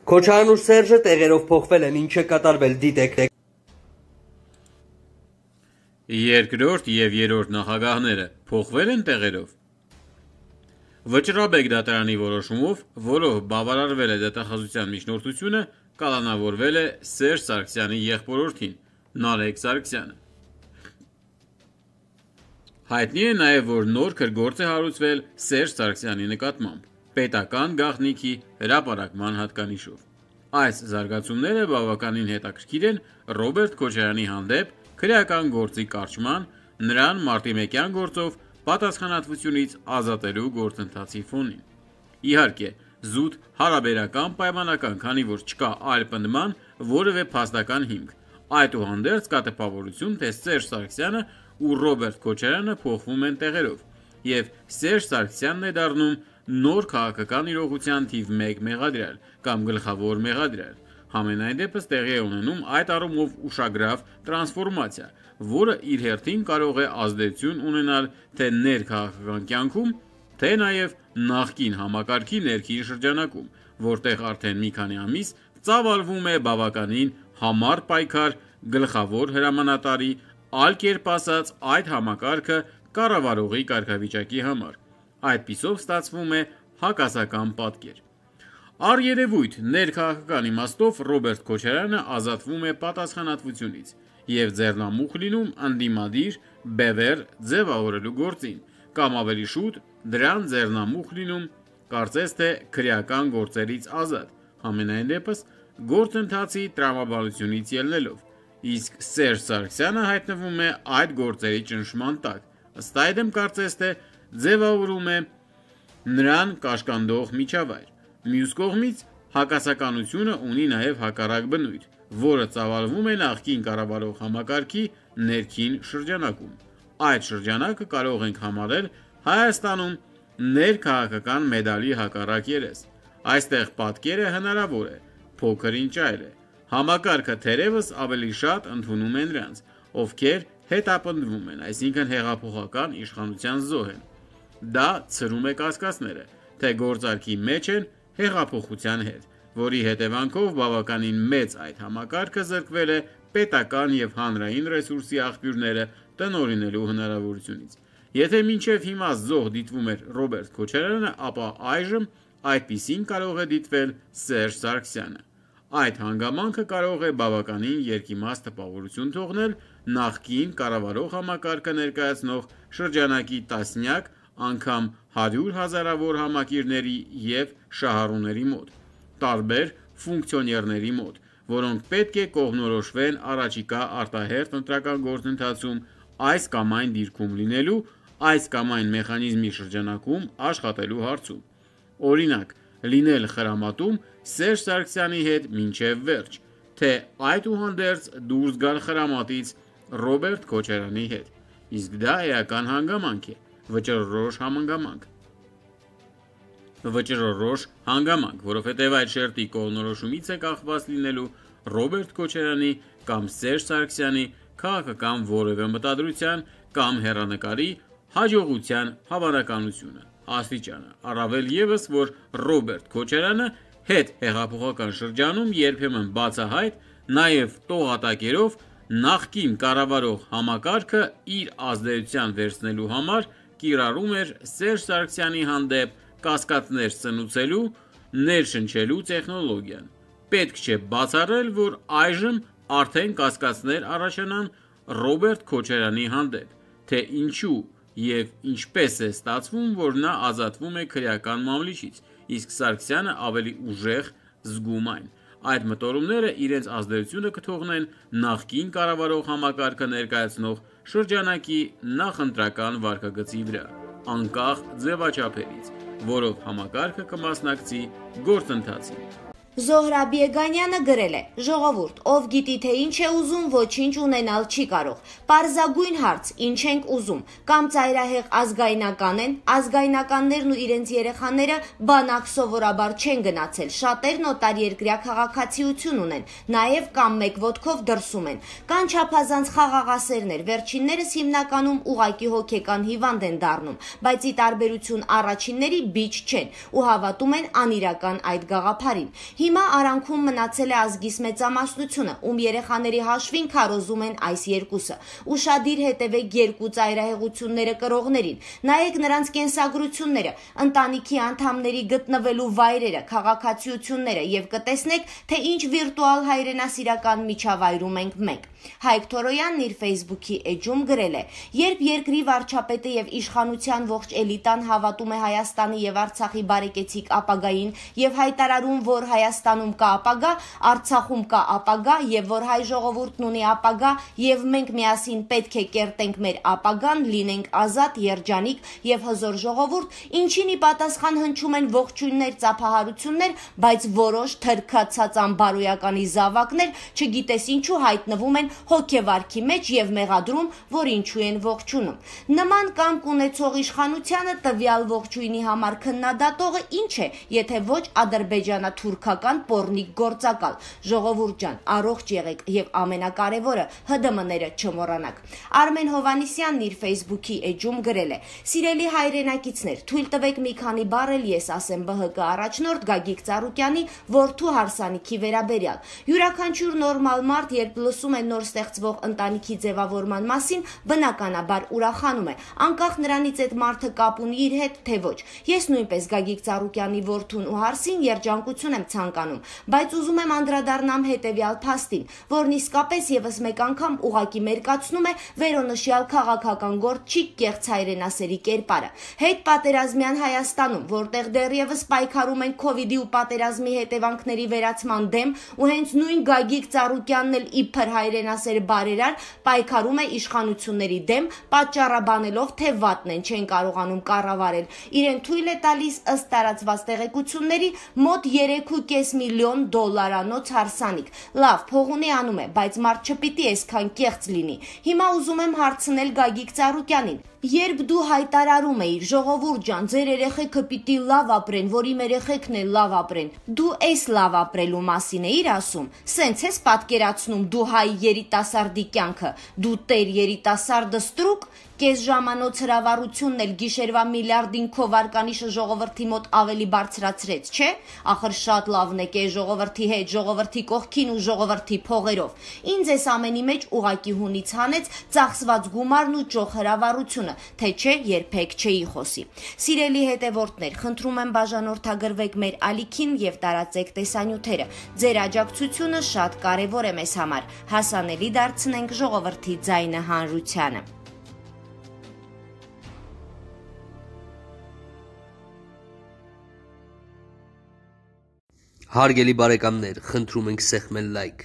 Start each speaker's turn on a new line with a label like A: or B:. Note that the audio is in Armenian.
A: Քոչարյանն ու Սերժը տեղերով փոխվել են, ինչ է կատարվել, դիտեք։
B: Երկրորդ և երրորդ նախագահները փոխվել են տեղերով։ Վճռաբեկ դատարանի որոշումով, որով բավարարվել է դատախազության միջնորդությունը, կալանավորվել է Սերժ Սարգսյանի եղբորորդին՝ Նարեկ Սարգսյանը։ Հայտնի է նաև, որ նոր քրգործ է հարուցվել Սերժ Սարգսյանի նկատմամբ՝ պետական գաղտնիքի հրապարակման հատկանիշով։ Այս զարգացումները բավականին հետաքրքիր են Ռոբերտ Քոչարյանի հանդեպ քրեական գործի կարճման, նրան մարտիմեկյան գործով պատասխանատվությունից ազատելու գործընթացի ֆոնին։ Իհարկե, զուտ հարաբերական պայմանական, քանի որ չկա այլ պնդման որևէ փաստական հիմք։ Այդուհանդերձ կա տպավորություն, թե Սերժ Սարգսյանը ու Ռոբերտ Քոչարյանը փոխվում են տեղերով, և Սերժ Սարգսյանն է դառնում նոր քաղաքական իրողության թիվ 1 մեղադրյալ կամ գլխավոր մեղադրյալ։ Համենայն դեպս տեղի է ունենում այդ առումով ուշագրավ տրանսֆորմացիա, որը իր հերթին կարող է ազդեցություն ունենալ թե ներքաղաքական կյանքում, թե նաև նախկին համակարգի ներքին շրջանակում, որտեղ արդեն մի քանի ամիս ծավալվում է բավականին համառ պայքար գլխավոր հրամանատարի, այլ կերպ ասած, այդ համակարգը կառավարողի կարգավիճակի համար։ Այդպիսով ստացվում է հակասական պատկեր։ Առերևույթ ներքաղաքական իմաստով Ռոբերտ Քոչարյանը ազատվում է պատասխանատվությունից և ձեռնամուխ լինում ընդդիմադիր բևեռ ձևավորելու գործին, կամ ավելի շուտ դրան ձեռնամուխ լինում, կարծես թե քրեական գործերից ազատ, համենայն դեպս գործընթացի տրամաբանությունից ելնելով, իսկ Սերժ Սարգսյանը հայտնվում է այդ գործերի ճնշման տակ, ըստ այդմ կարծես թե ձևավորում է նրան կաշկանդող միջավայր։ Մյուս կողմից, հակասականությունը ունի նաև հակառակ բնույթ, որը ծավալվում է նախկին կառավարող համակարգի ներքին շրջանակում։ Այդ շրջանակը կարող ենք համարել Հայաստանում ներքաղաքական մեդալի հակառակ երես։ Այստեղ պատկերը հնարավոր է, փոքր ինչ այլ է։ Համակարգը թերևս ավելի շատ ընդունում է նրանց, ովքեր հետապնդվում են, այսինքն հեղափոխական իշխանության զոհ են։ Դա ցրում է կասկածները, թե գործարքի մեջ են հեղափոխության հետ, որի հետևանքով բավականին մեծ այդ համակարգը զրկվել է պետական և հանրային ռեսուրսի աղբյուրները տնօրինելու հնարավորությունից։ Եթե մինչև հիմա զոհ դիտվում էր Ռոբերտ Քոչարյանը, ապա այժմ այդպիսին կարող է դիտվել Սերժ Սարգսյանը։ Այդ հանգամանքը կարող է բավականին երկիմաստ տպավորություն թողնել նախկին կառավարող համակարգը ներկայացնող շրջանակի տասնյակ, անգամ 100 հազարավոր համակիրների և շահառուների մոտ, տարբեր ֆունկցիոներների մոտ, որոնք պետք է կողմնորոշվեն առաջիկա արտահերթ ընտրական գործընթացում այս կամ այն դիրքում լինելու, այս կամ այն մեխանիզմի շրջանակում աշխատելու հարցում։ Օրինակ, լինել խրամատում Սերժ Սարգսյանի հետ մինչև վերջ, թե այդուհանդերձ դուրս գալ խրամատից Ռոբերտ Քոչարյանի հետ, իսկ դա էական հանգամանք է, վճռորոշ հանգամանք, որովհետև այդ շերտի կողմնորոշումից է կախված լինելու Ռոբերտ Քոչարյանի կամ Սերժ Սարգսյանի քաղաքական որևէ մտադրության կամ հեռանկարի հաջողության հավանականությունը, աստիճանը, առավել ևս, որ Ռոբերտ Քոչարյանը հետհեղափոխական շրջանում երբեմն բացահայտ, նաև տողատակերով նախկին կառավարող համակարգը իր ազդեցության վերցնելու համար կիրառում էր Սերժ Սարգսյանի հանդեպ կասկածներ սնուցելու, ներշնչելու տեխնոլոգիան։ Պետք չէ բացառել, որ այժմ արդեն կասկածներ առաջանան Ռոբերտ Քոչարյանի հանդեպ, թե ինչու և ինչպես է ստացվում, որ նա ազատվում է քրեական մամլիչից, իսկ Սարգսյանը ավելի ուժեղ զգում այն։ Այդ մտորումները իրենց ազդեցությունը կթողնեն նախկին կառավարող համակարգը ներկայացնող շրջանակի նախընտրական վարքագծի վրա, անկախ ձևաչափերից, որով համակարգը կմասնակցի գործընթացին։
C: Զոհրաբ Եգանյանը գրել է. «Ժողովուրդ, ով գիտի թե ինչ է ուզում, ոչինչ ունենալ չի կարող։ Պարզագույն հարց՝ ինչ ենք ուզում։ Կամ ծայրահեղ ազգայնական են, ազգայնականներն ու իրենց երեխաները բանակ սովորաբար չեն գնացել, շատերն օտարերկրյա քաղաքացիություն ունեն, նաև կամ մեկ ոտքով դրսում են։ Կան չափազանց խաղաղասերներ, վերջիններս հիմնականում ուղղակի հոգեկան հիվանդ են դառնում, բայց ի տարբերություն առաջինների բիջ չեն ու հավատում են անիրական այդ գաղափարին։ Հիմա արանքում մնացել է ազգիս մեծամասնությունը, ում երեխաների հաշվին քարոզում են այս երկուսը։ Ուշադիր հետևեք երկու ծայրահեղությունները կրողներին, նայեք նրանց կենսագրությունները, ընտանիքի անդամների գտնվելու վայրերը, քաղաքացիությունները եւ կտեսնեք, թե ինչ վիրտուալ հայրենասիրական միջավայրում ենք մենք։ Հայկ Թորոյանն իր Facebook-ի էջում գրել է. երբ երկրի վարչապետը եւ իշխանության ողջ էլիտան հավատում է Հայաստանի եւ Արցախի բարեկեցիկ ապագային եւ հայտարարում, որ Հայաստանում կա ապագա, Արցախում կա ապագա եւ որ հայ ժողովուրդն ունի ապագա եւ մենք միասին պետք է կերտենք մեր ապագան, լինենք ազատ, երջանիկ եւ հզոր ժողովուրդ, ինչին ի պատասխան հնչում են ողջույններ, ծափահարություններ, բայց որոշ թրքացած անբարոյականի զավակներ, չգիտես ինչու հայտնվում են հոգեվարքի մեջ եւ մեղադրում, որ ինչու են ողջունում։ Նման կամք ունեցող իշխանությանը տվյալ ողջույնի համար քննադատողը ինչ է, եթե ոչ ադրբեջանա-թուրքական պոռնիկ գործակալ։ Ժողովուրդ ջան, առողջ եղեք եւ ամենակարևորը ՀԴՄ-ները չմոռանաք։ Արմեն Հովանիսյանն իր Facebook-ի էջում գրել է. Սիրելի հայրենակիցներ, թույլ տվեք մի քանի բառ էլ ես ասեմ ԲՀԿ առաջնորդ Գագիկ Ծառուկյանի որդու հարսանիքի վերաբերյալ։ Յուրաքանչյուր նորմալ մարդ, երբ լսում է նոր ստեղծվող ընտանիքի ձևավորման մասին, բնականաբար ուրախանում է, անկախ նրանից այդ մարդը կապ ունի իր հետ, թե ոչ։ Ես նույնպես Գագիկ Ծառուկյանի որդուն ու հարսին երջանկություն եմ ցանկանում, բայց ուզում եմ անդրադառնամ հետևյալ փաստին, որն իսկապես եւս մեկ անգամ ուղակի մերկացնում է վերոնշյալ քաղաքական գործչի կեղծ հայրենասերի կերպարը։ Հետ պատերազմյան Հայաստանում, որտեղ դեռևս պայքարում են Քովիդի ու պատերազմի հետևանքների վերացման դեմ, ու հենց նույն Գագիկ Ծառուկյանն էլ իբր հայրենասեր բարերար պայքարում է իշխանությունների դեմ, պատճառաբանելով, թե վատն են չեն կարողանում կառավարել։ Իրեն թույլ է տալիս ըստ տարածված տեղեկությունների մոտ 3.5 միլիոն դոլարանոց հարսանիք։ Լավ, փող ունի անում է, բայց մարդ չպիտի այսքան կեղծ լինի։ Հիմա ուզում եմ հարցնել Գագիկ Ծառուկյանին. Երբ դու հայտարարում էիր, ժողովուրդ ջան, ձեր երեխեքը պիտի լավ ապրեն, որ իմ երեխեքն էլ լավ ապրեն, դու այս լավ ապրելու մասին էիր ասում։ Սենց ես պատկերացնում դու հայ երիտասարդի կյանքը, դու տեր երիտասարդը ստրուկ, կես ժամանոց հրավառությունն էլ գիշերվա միլիարդին քո վարկանիշը ժողովրդի մոտ ավելի բարձրացրեց, չէ՞։ Ախր շատ լավն է կես ժողովրդի հետ, ժողովրդի կողքին ու ժողովրդի փողերով։ Ինձ այս ամենի մեջ ուղակի հունից հանեց ծախսված գումարն ու ճոխ հրավառությունը, թե չէ երբեք չէի խոսի։ Սիրելի հետևորդներ, խնդրում եմ բաժանորդագրվեք մեր ալիքին եւ տարածեք տեսանյութերը։ Ձեր աջակցությունը շատ կարեւոր է մեզ համար։ Հասանելի դարձնենք ժողովրդի ձայնը հանրությանը։
A: Հարգելի բարեկամներ, խնդրում ենք սեղմել լայք